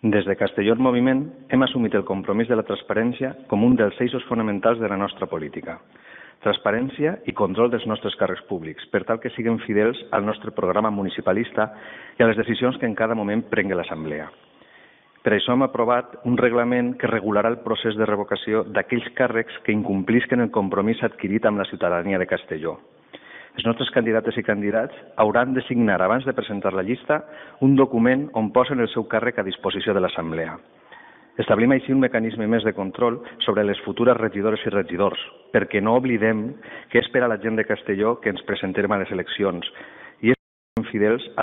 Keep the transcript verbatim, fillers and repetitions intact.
Des de Castelló en Moviment hem assumit el compromís de la transparència com un dels eixos fonamentals de la nostra política. Transparència i control dels nostres càrrecs públics, per tal que siguin fidels al nostre programa municipalista i a les decisions que en cada moment prengui l'Assemblea. Per això hem aprovat un reglament que regularà el procés de revocació d'aquells càrrecs que incomplisquen el compromís adquirit amb la ciutadania de Castelló. Els nostres candidates i candidats hauran de signar, abans de presentar la llista, un document on posen el seu càrrec a disposició de l'Assemblea. Establim així un mecanisme més de control sobre les futures regidores i regidors, perquè no oblidem que és per a la gent de Castelló que ens presentem a les eleccions i és fidels al